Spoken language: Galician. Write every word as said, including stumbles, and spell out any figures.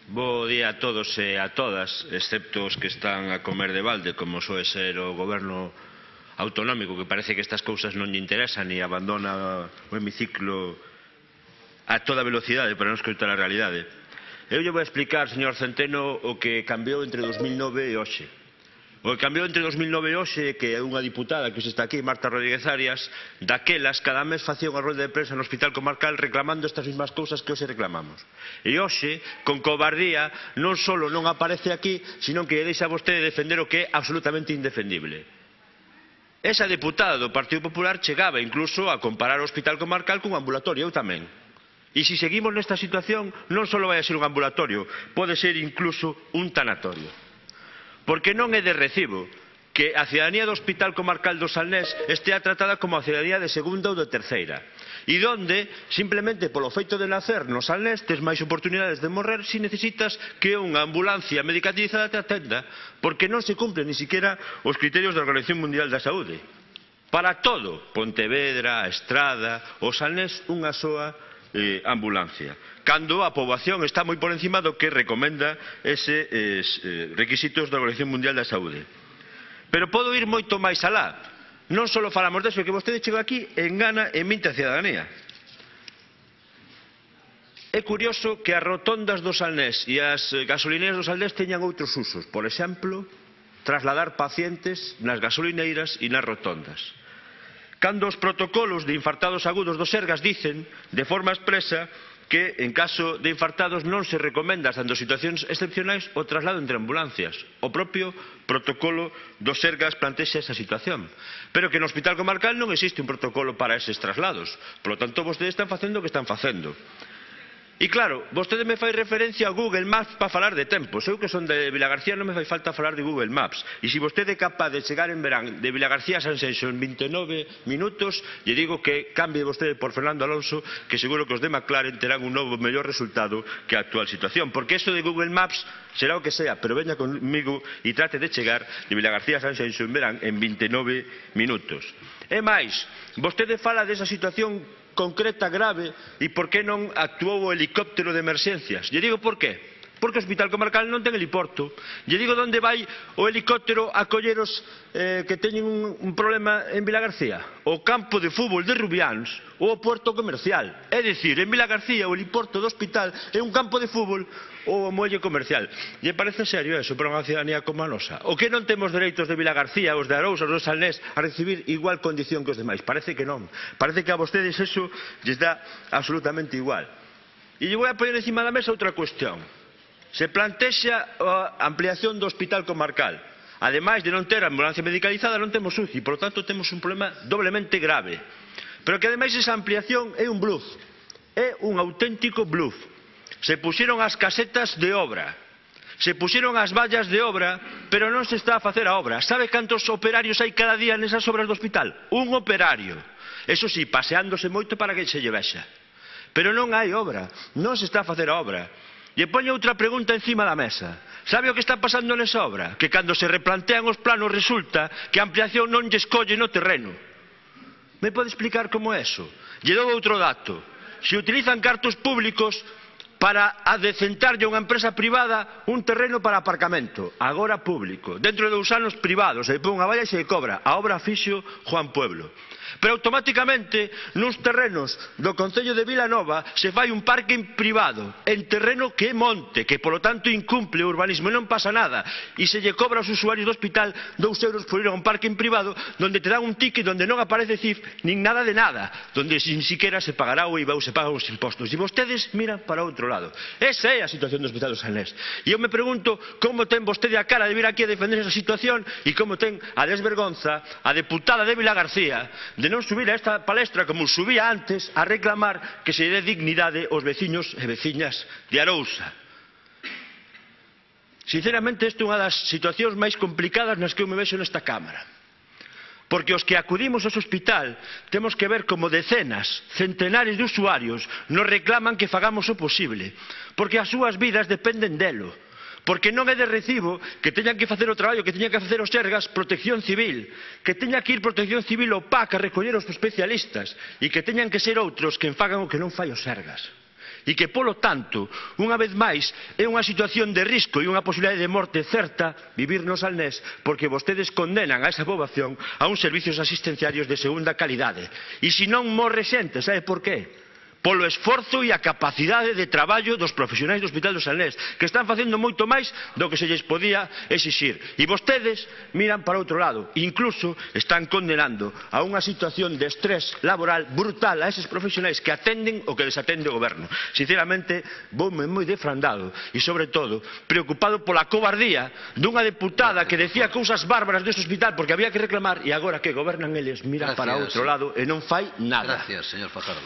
Bo día a todos e a todas, excepto os que están a comer de balde, como soe ser o goberno autonómico, que parece que estas cousas non lle interesan e abandona o hemiciclo a toda velocidade para non escoitar a realidade. Eu lle vou explicar, señor Centeno, o que cambiou entre dos mil nove e hoxe. O que cambiou entre dos mil nove e hoxe, que é unha diputada que está aquí, Marta Rodríguez Arias, daquelas cada mes facía unha rolda de prensa no Hospital Comarcal reclamando estas mesmas cousas que hoxe reclamamos. E hoxe, con cobardía, non só non aparece aquí, sino que deixa vostede defender o que é absolutamente indefendible. Esa deputada do Partido Popular chegaba incluso a comparar o Hospital Comarcal cun ambulatorio, eu tamén. E se seguimos nesta situación, non só vai a ser un ambulatorio, pode ser incluso un tanatorio. Porque non é de recibo que a cidadanía do Hospital Comarcal do Salnés estea tratada como a cidadanía de segunda ou de terceira, e donde, simplemente polo feito de nacer no Salnés, tes máis oportunidades de morrer se necesitas que unha ambulancia medicalizada te atenda, porque non se cumplen ni siquiera os criterios da Organización Mundial da Saúde. Para todo, Pontevedra, a Estrada, o Salnés, unha soa eh, ambulancia, cando a poboación está moi por encima do que recomenda eses eh, requisitos da Organización Mundial da Saúde. Pero podo ir moito máis alá. Non só falamos deso, que vostede chega aquí e engana e minte a cidadanía. É curioso que as rotondas do Salnés e as gasolineras do Salnés teñan outros usos. Por exemplo, trasladar pacientes nas gasolineiras e nas rotondas. Cando os protocolos de infartados agudos do Sergas dicen, de forma expresa, que en caso de infartados non se recomenda, salvo situacións excepcionais, o traslado entre ambulancias. O propio protocolo do Sergas plantexa esa situación. Pero que no Hospital Comarcal non existe un protocolo para eses traslados. Por lo tanto, vostedes están facendo o que están facendo. E claro, vostede me fai referencia a Google Maps para falar de tempos. Eu que son de Vilagarcía non me fai falta falar de Google Maps. E se vostede é capaz de chegar en verán de Vilagarcía a Sanxenxo en vinte e nove minutos, lle digo que cambie vostede por Fernando Alonso, que seguro que os de McLaren terán un novo mellor resultado que a actual situación. Porque eso de Google Maps será o que sea, pero veña comigo e trate de chegar de Vilagarcía a Sanxenxo en verán en vinte e nove minutos. E máis, vostede fala desa situación concreta, grave, e por que non actuou o helicóptero de emerxencias. Lle digo por qué. Porque o Hospital Comarcal non ten heliporto. Lle digo onde vai o helicóptero a colleros eh, que teñen un, un problema en Vilagarcía. O campo de fútbol de Rubiáns ou o puerto comercial. É dicir, en Vilagarcía o heliporto do hospital é un campo de fútbol ou o muelle comercial. Lle parece serio eso para unha cidadanía como a nosa? O que non temos dereitos de Vilagarcía, os de Arousa, os do Salnés, a recibir igual condición que os demais? Parece que non. Parece que a vostedes eso lles dá absolutamente igual. E lle vou a poñer encima da mesa outra cuestión. Se plantexa a ampliación do Hospital Comarcal. Ademais de non ter ambulancia medicalizada, non temos U C I, por lo tanto temos un problema doblemente grave. Pero que ademais esa ampliación é un bluff, é un auténtico bluff. Se puxeron as casetas de obra, se puxeron as vallas de obra, pero non se está a facer a obra. Sabe cantos operarios hai cada día nesas obras do hospital? Un operario. Eso sí, paseándose moito para que se lle vexa. Pero non hai obra, non se está a facer a obra. E poño outra pregunta encima da mesa. Sabe o que está pasando nesa obra? Que cando se replantean os planos resulta que a ampliación non lle escolle no terreno. Me pode explicar como é eso? Lle dou outro dato. Se utilizan cartos públicos para adecentarlle a unha empresa privada un terreno para aparcamento, agora público, dentro de dous anos privados, se pon unha valla e se cobra. A obra fixo Juan Pueblo. Pero automáticamente nos terrenos do Concello de Vilanova se fai un parking privado en terreno que é monte, que polo tanto incumple o urbanismo e non pasa nada, e se lle cobra aos usuarios do hospital dous euros por ir a un parking privado donde te dan un ticket donde non aparece C I F nin nada de nada, donde sin siquiera se pagará o I V A ou se pagan os impostos, e vostedes miran para outro lado. Esa é a situación do Hospital do Salnés. E eu me pregunto como ten vostede a cara de vir aquí a defender esa situación e como ten a desvergonza a deputada de Vilagarcía de non subir a esta palestra como subía antes a reclamar que se dé dignidade aos veciños e veciñas de Arousa. Sinceramente, esta é unha das situacións máis complicadas nas que eu me vexo nesta Cámara. Porque os que acudimos ao hospital temos que ver como decenas, centenares de usuarios nos reclaman que fagamos o posible, porque as súas vidas dependen delo. Porque non é de recibo que teñan que facer o traballo que teñan que facer os Sergas Protección Civil, que teña que ir Protección Civil ao P A C a recoller os especialistas e que teñan que ser outros que fagan o que non fai os Sergas. e que, polo tanto, unha vez máis, é unha situación de risco e unha posibilidade de morte certa vivir no Salnés, porque vostedes condenan a esa poboación a uns servicios asistenciarios de segunda calidade. E se non morre xente, sabe por qué? Polo esforzo e a capacidade de traballo dos profesionais do Hospital do Salnés, que están facendo moito máis do que se lles podía exixir. E vostedes miran para outro lado, incluso están condenando a unha situación de estrés laboral brutal a eses profesionais que atenden o que desatende o goberno. Sinceramente, voume moi defrandado e, sobre todo, preocupado pola cobardía dunha deputada que decía cousas bárbaras deste hospital porque había que reclamar, e agora que gobernan eles mira para outro lado e non fai nada. Gracias, señor Fajardo.